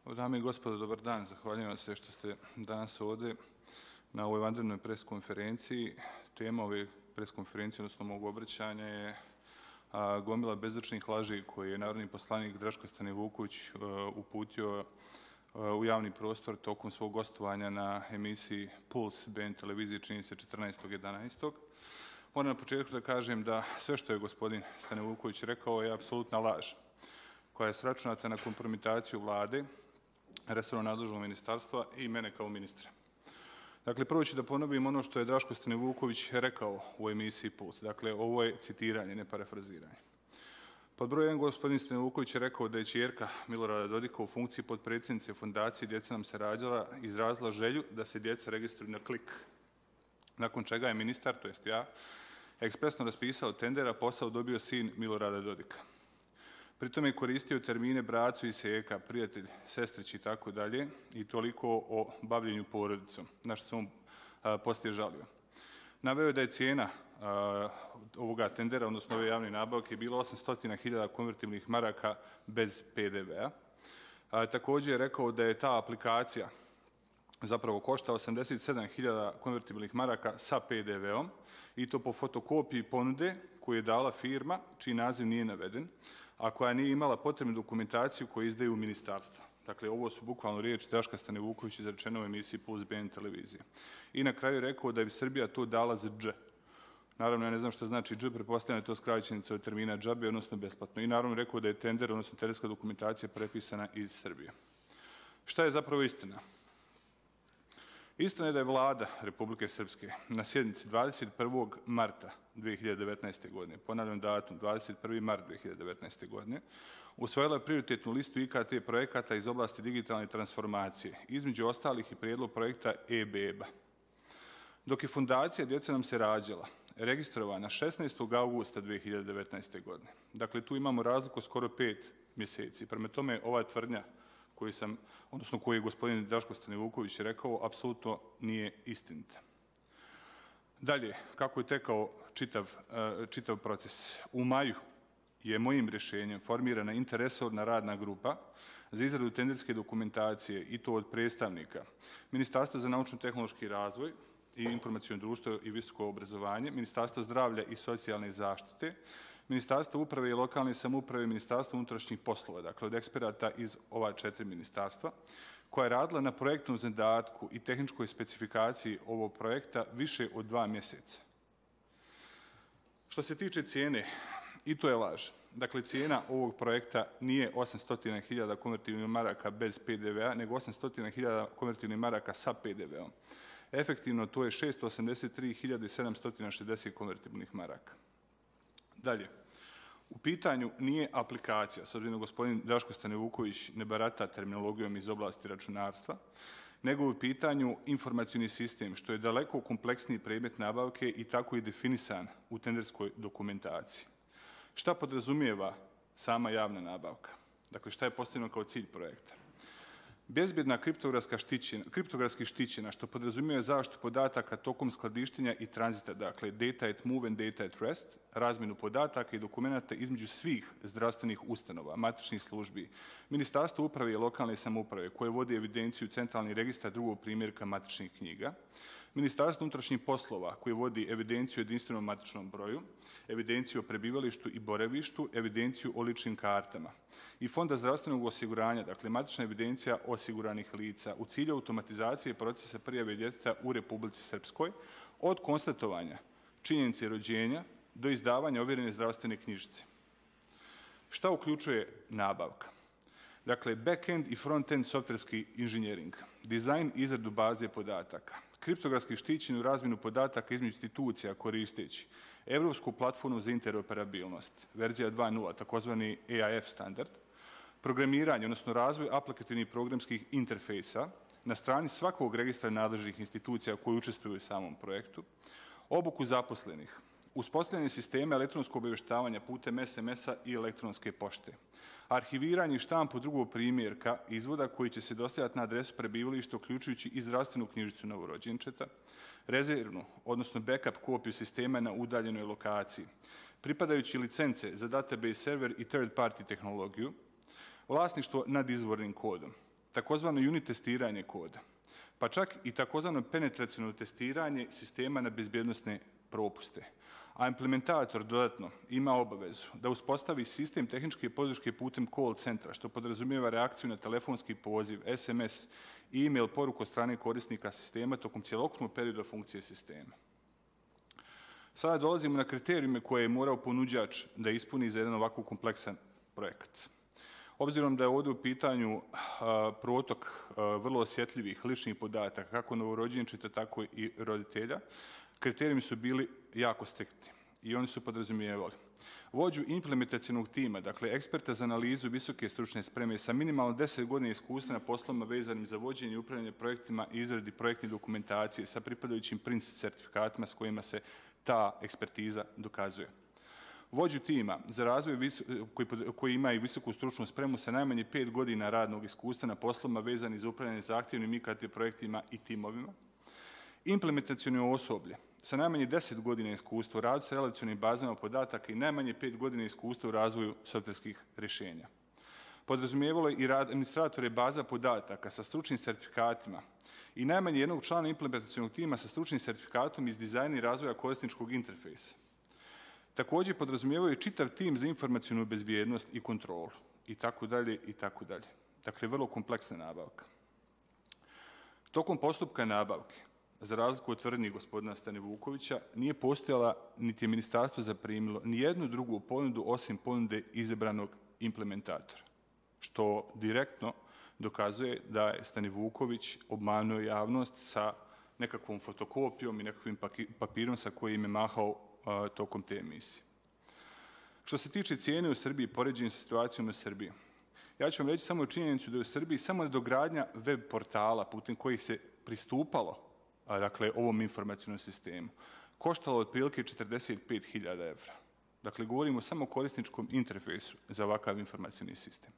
Dame i gospodo, dobar dan. Zahvaljujem vam se što ste danas ovdje na ovoj vanrednoj preskonferenciji. Tema ove preskonferencije, odnosno mog obraćanja, je gomila bezočnih laži koje je narodni poslanik Draško Stanivuković uputio u javni prostor tokom svog gostovanja na emisiji Puls BN televizije, čini se 14.11. Moram na početku da kažem da sve što je gospodin Stanivuković rekao je apsolutna laž, koja je sračunata na kompromitaciju vlade, resorno nadležnog ministarstva i mene kao ministra. Dakle, prvo ću da ponovim ono što je Draško Stanivuković rekao u emisiji Puls. Dakle, ovo je citiranje, ne parafraziranje. Pod broj 1, gospodin Stanivuković je rekao da je ćerka Milorada Dodika u funkciji potpredsjednice fondacije Djeca nam se rađala izrazila želju da se djeca registruju na klik. Nakon čega je ministar, to jest ja, ekspresno raspisao tender, a posao dobio sin Milorada Dodika. Pritom je koristio termine bracu i seka, prijatelj, sestrić i tako dalje, i toliko o bavljenju porodicom, na što se on poslije žalio. Naveo je da je cijena ovoga tendera, odnosno ove javne nabavke, bila 800.000 konvertibilnih maraka bez PDV-a. Također je rekao da je ta aplikacija zapravo košta 87.000 konvertibilnih maraka sa PDV-om, i to po fotokopiji ponude koju je dala firma, čiji naziv nije naveden, a koja nije imala potrebnu dokumentaciju koju izdaju ministarstva. Dakle, ovo su bukvalno riječi Draška Stanivukovića izrečene u emisiji Puls BN televizije. I na kraju je rekao da bi Srbija to dala za dž. Naravno, ja ne znam što znači dž, pretpostavljam da je to skraćenica od termina džabe, odnosno besplatno. I naravno rekao da je tender, odnosno tenderska dokumentacija, prepisana iz Srbije. Šta je zapravo istina? Istina je da je vlada Republike Srpske na sjednici 21. marta 2019. godine, ponavljam datum, 21. mart 2019. godine, usvojila prioritetnu listu IKT projekata iz oblasti digitalne transformacije, između ostalih i prijedlog projekta e-beba. Dok je fondacija Djeca nam se rađala registrovana 16. augusta 2019. godine. Dakle, tu imamo razliku skoro 5 mjeseci. Prema tome, ova tvrdnja koju je gospodin Draško Stanivuković rekao, apsolutno nije istinita. Dalje, kako je tekao čitav proces? U maju je mojim rješenjem formirana interresorna radna grupa za izradu tenderske dokumentacije, i to od predstavnika Ministarstva za naučno-tehnološki razvoj i informacijono društvo i visoko obrazovanje, Ministarstva zdravlja i socijalne zaštite, Ministarstvo uprave i lokalne samouprave, Ministarstvo unutrašnjih poslova, dakle od eksperata iz ova 4 ministarstva, koja je radila na projektnom zadatku i tehničkoj specifikaciji ovog projekta više od 2 mjeseca. Što se tiče cijene, i to je laž. Dakle, cijena ovog projekta nije 800.000 konvertibilnih maraka bez PDV-a, nego 800.000 konvertibilnih maraka sa PDV-om. Efektivno, to je 683.760 konvertibilnih maraka. Dalje, u pitanju nije aplikacija, s obzirom da gospodin Draško Stanivuković ne barata terminologijom iz oblasti računarstva, nego u pitanju informacioni sistem, što je daleko kompleksniji predmet nabavke i tako i definisan u tenderskoj dokumentaciji. Šta podrazumijeva sama javna nabavka? Dakle, šta je postavljeno kao cilj projekta? Bezbjedna kriptografski štićena, što podrazumijeva zaštitu podataka tokom skladištenja i tranzita, dakle data at move and data at rest, razmjenu podataka i dokumenata između svih zdravstvenih ustanova, matičnih službi, Ministarstvo uprave i lokalne samouprave, koje vodi evidenciju centralni registar drugog primjerka matičnih knjiga, Ministarstvo unutrašnjih poslova, koje vodi evidenciju o jedinstvenom matičnom broju, evidenciju o prebivalištu i boravištu, evidenciju o ličnim kartama, i Fonda zdravstvenog osiguranja, dakle matična evidencija osiguranih lica, u cilju automatizacije procesa prijave djeteta u Republici Srpskoj, od konstatovanja činjenice rođenja do izdavanja ovjerene zdravstvene knjižice. Šta uključuje nabavka? Dakle, back-end i front-end softverski inženjering, dizajn i izradu baze podataka, kriptografski štićenu razmjenu podataka između institucija koristeći Evropsku platformu za interoperabilnost, verzija 2.0, takozvani EAF standard, programiranje, odnosno razvoj aplikativnih programskih interfejsa na strani svakog registra nadležnih institucija koji učestvuju u samom projektu, obuku zaposlenih, uspostavljanje sistema elektronskog obavještavanja putem SMS-a i elektronske pošte, arhiviranje i štampu drugog primjerka izvoda koji će se dostavljati na adresu prebivališta, uključujući i zdravstvenu knjižicu novorođenčeta, rezervnu, odnosno backup kopiju sistema na udaljenoj lokaciji, pripadajući licence za database server i third party tehnologiju, vlasništvo nad izvornim kodom, takozvano unit testiranje koda, pa čak i takozvano penetracionalno testiranje sistema na bezbjednosne propuste. A implementator dodatno ima obavezu da uspostavi sistem tehničke podrške putem call centra, što podrazumijeva reakciju na telefonski poziv, SMS i e-mail poruku od strane korisnika sistema tokom cjelokupnog perioda funkcije sistema. Sada dolazimo na kriterijume koje je morao ponuđač da ispuni za jedan ovako kompleksan projekat. Obzirom da je ovdje u pitanju protok vrlo osjetljivih ličnih podataka, kako novorođenčeta, tako i roditelja, kriterijumi su bili jako striktni i oni su podrazumijevali vođu implementacionog tima, dakle eksperta za analizu visoke stručne spreme sa minimalno 10 godina iskustva na poslovima vezanim za vođenje i upravljanje projektima i izradi projektne dokumentacije sa pripadajućim PRINCE certifikatima s kojima se ta ekspertiza dokazuje. Vođu tima za razvoj koji ima i visoku stručnu spremu sa najmanje 5 godina radnog iskustva na poslovima vezanim za upravljanje zahtjevnim IKT projektima i timovima. Implementaciono osoblje sa najmanje 10 godina iskustva u radu sa relacionim bazama podataka i najmanje 5 godina iskustva u razvoju softverskih rješenja. Podrazumijevalo je i rad administratore baza podataka sa stručnim sertifikatima i najmanje jednog člana implementacionog tima sa stručnim sertifikatom iz dizajna i razvoja korisničkog interfejsa. Također podrazumijevaju čitav tim za informacionu bezbjednost i kontrolu i tako dalje i tako dalje. Dakle, vrlo kompleksna nabavka. Tokom postupka nabavke, za razliku od tvrdnji gospodina Stanivukovića, nije postojala niti je ministarstvo zaprimilo ni jednu drugu ponudu osim ponude izabranog implementatora, što direktno dokazuje da je Stanivuković obmanuo javnost sa nekakvom fotokopijom i nekakvim papirom sa kojim je mahao tokom te emisije. Što se tiče cijene u Srbiji, poređenje sa situacijom u Srbiji, ja ću vam reći samo činjenicu da je u Srbiji samo nadogradnja web portala putem kojih se pristupalo dakle, ovom informacijnom sistemu koštalo otprilike 45.000 evra. Dakle, govorimo samo o korisničkom interfejsu za ovakav informacijni sistem.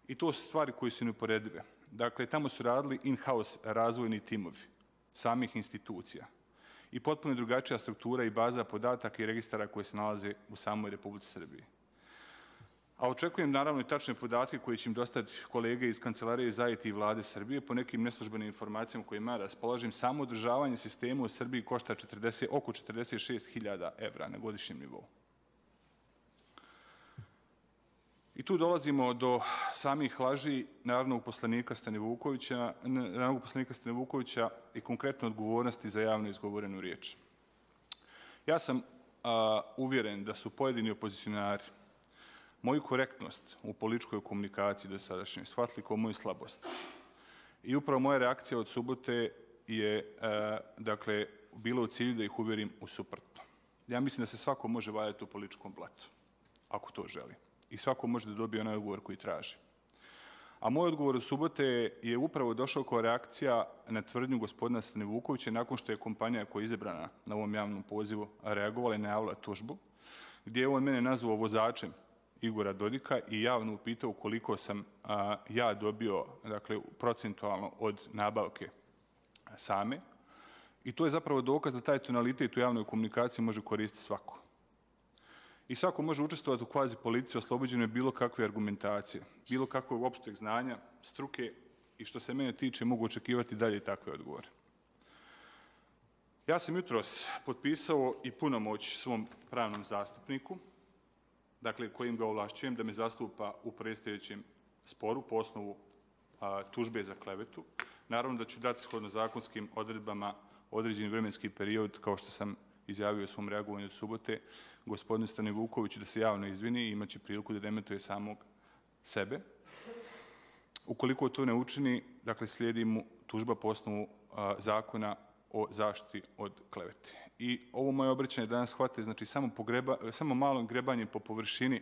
I to su stvari koje su neuporedive. Dakle, tamo su radili in-house razvojni timovi samih institucija i potpuno drugačija struktura i baza podataka i registara koje se nalaze u samoj Republici Srbiji. A očekujem naravno i tačne podatke koje će im dostaviti kolege iz Kancelarije za IT i Vlade Srbije po nekim neslužbenim informacijama kojima ja raspolažem. Samo održavanje sistema u Srbiji košta oko 46.000 evra na godišnjem nivou. I tu dolazimo do samih laži narodnog poslanika Stanivukovića i konkretno odgovornosti za javno izgovorenu riječ. Ja sam uvjeren da su pojedini opozicionari moju korektnost u političkoj komunikaciji do sadašnjoj shvatili kao moju slabost. I upravo moja reakcija od subote je dakle, bila u cilju da ih uvjerim u suprotno. Ja mislim da se svako može valjati u političkom blatu, ako to želi. I svako može da dobije onaj odgovor koji traži. A moj odgovor od subote je upravo došao kao reakcija na tvrdnju gospodina Stanivukovića nakon što je kompanija koja je izabrana na ovom javnom pozivu reagovala i najavila tužbu, gdje je on mene nazvao vozačem Igora Dodika i javno upitao koliko sam ja dobio dakle, procentualno od nabavke same. I to je zapravo dokaz da taj tonalitet u javnoj komunikaciji može koristiti svako. I svako može učestvovati u kvazi politici oslobođeno je bilo kakve argumentacije, bilo kakvog opšteg znanja, struke i što se mene tiče mogu očekivati dalje takve odgovore. Ja sam jutros potpisao i punomoć svom pravnom zastupniku, dakle kojim ga ovlašćujem da me zastupa u predstojećem sporu po osnovu tužbe za klevetu. Naravno da ću dati shodno zakonskim odredbama određeni vremenski period, kao što sam izjavio u svom reagovanju od subote, gospodinu Stanivukoviću da se javno izvini i imaće priliku da dementuje samog sebe. Ukoliko to ne učini, dakle slijedi mu tužba po osnovu zakona o zaštiti od klevete. I ovo moje obraćanje danas shvate, znači samo malom grebanjem po površini,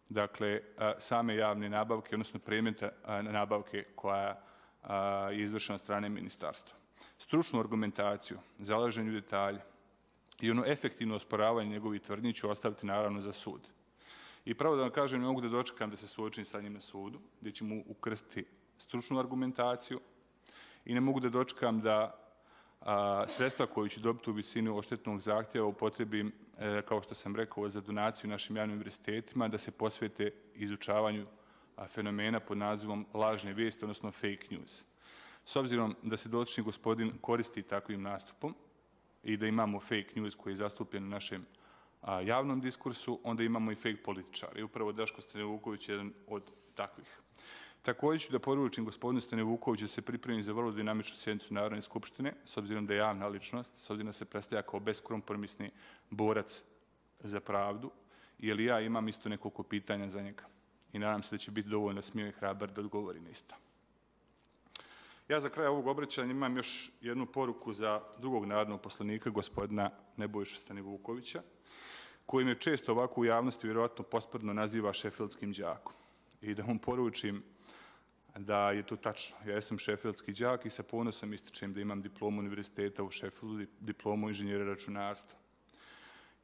dakle same javne nabavke, odnosno predmeta nabavke koja je izvršena od strane ministarstva. Stručnu argumentaciju, zalaženju detalja i ono efektivno osporavanje njegovih tvrdnji ću ostaviti naravno za sud. I pravo da vam kažem, ne mogu da dočekam da se suočim sa njim na sudu, gdje ću mu ukrstiti stručnu argumentaciju i ne mogu da dočekam da sredstva koju ću dobiti u visini odštetnog zahtjeva upotrebim, kao što sam rekao, za donaciju našim javnim univerzitetima, da se posvete izučavanju fenomena pod nazivom lažne vijesti, odnosno fake news. S obzirom da se dotični gospodin koristi takvim nastupom i da imamo fake news koji je zastupljen u našem javnom diskursu, onda imamo i fake političara. I upravo Draško Stanivuković je jedan od takvih. Također ću da poručim gospodinu Stanivukoviću da se pripremi za vrlo dinamičnu sjednicu Narodne skupštine, s obzirom da je javna ličnost, s obzirom da se predstavlja kao beskompromisni borac za pravdu, jer ja imam isto nekoliko pitanja za njega. I nadam se da će biti dovoljno smio i hrabar da odgovori na isto. Ja za kraj ovog obraćanja imam još jednu poruku za drugog narodnog poslanika, gospodina Nebojšu Stanivukovića, koji me često ovako u javnosti vjerojatno posprdno naziva šefildskim đakom. I da mu poručim da je to tačno. Ja sam šefildski đak i sa ponosom ističem da imam diplomu univerziteta u Šefildu, diplomu inženjera računarstva.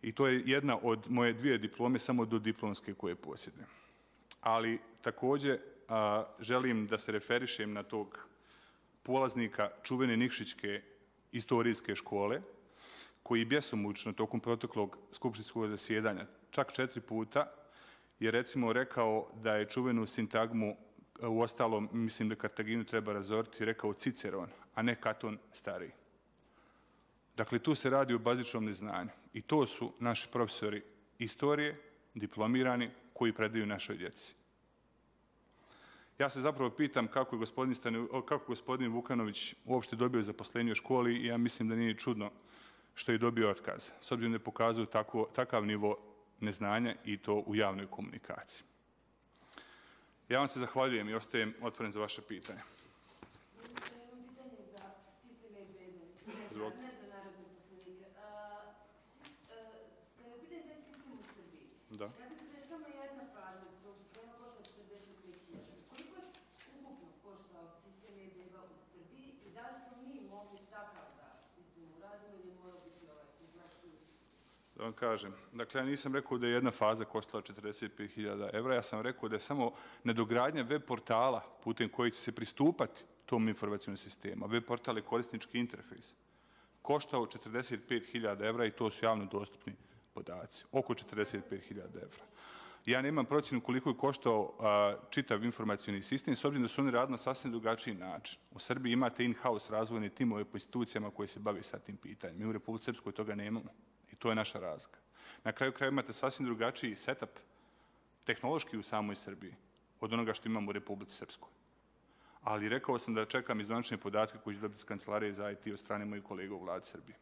I to je jedna od moje 2 diplome, samo do diplomske koje posjedujem. Ali također želim da se referišem na tog polaznika čuvene Nikšićke istorijske škole, koji bjesomučno tokom proteklog skupštinskog zasjedanja, čak 4 puta, je recimo rekao da je čuvenu sintagmu, u ostalom mislim da Kartaginu treba razoriti, rekao Ciceron, a ne Katon Stariji. Dakle, tu se radi o bazičnom neznanju i to su naši profesori istorije, diplomirani, koji predaju našoj djeci. Ja se zapravo pitam kako je gospodin Vukanović uopšte dobio zaposlenje u školi i ja mislim da nije čudno što je dobio otkaz, s obzirom da je pokazao takav nivo neznanja i to u javnoj komunikaciji. Ja vam se zahvaljujem i ostajem otvoren za vaše pitanje. Imam pitanje za sistem e-bebe, ne za narodne poslanike. Kada je pitanje taj sistem u Srbiji, radi se da je samo jedna faza tog sistema košta 45.000. Koliko je ukupno koštao sistem e-beba u Srbiji i da li smo mi mogli takav da sistem uradimo ili mora biti ovaj kompleksni sistem? Da vam kažem, dakle ja nisam rekao da je jedna faza koštala 45.000 evra, ja sam rekao da je samo nadogradnja web portala putem koji će se pristupati tom informacijnom sistemu, web portal je korisnički interfejs, koštao 45.000 evra i to su javno dostupni podaci, oko 45.000 evra. Ja nemam procjenu koliko je koštao čitav informacijni sistem, s obzirom da su oni radili na sasvim drugačiji način. U Srbiji imate in-house razvojne timove po institucijama koje se bave sa tim pitanjem. Mi u Republici Srpskoj toga nemamo. I to je naša razlika. Na kraju kraja imate sasvim drugačiji setup tehnološki u samoj Srbiji od onoga što imamo u Republici Srpskoj. Ali rekao sam da čekam izvanične podatke koji će dobiti iz Kancelarije za IT od strane mojih kolega u vladi Srbije.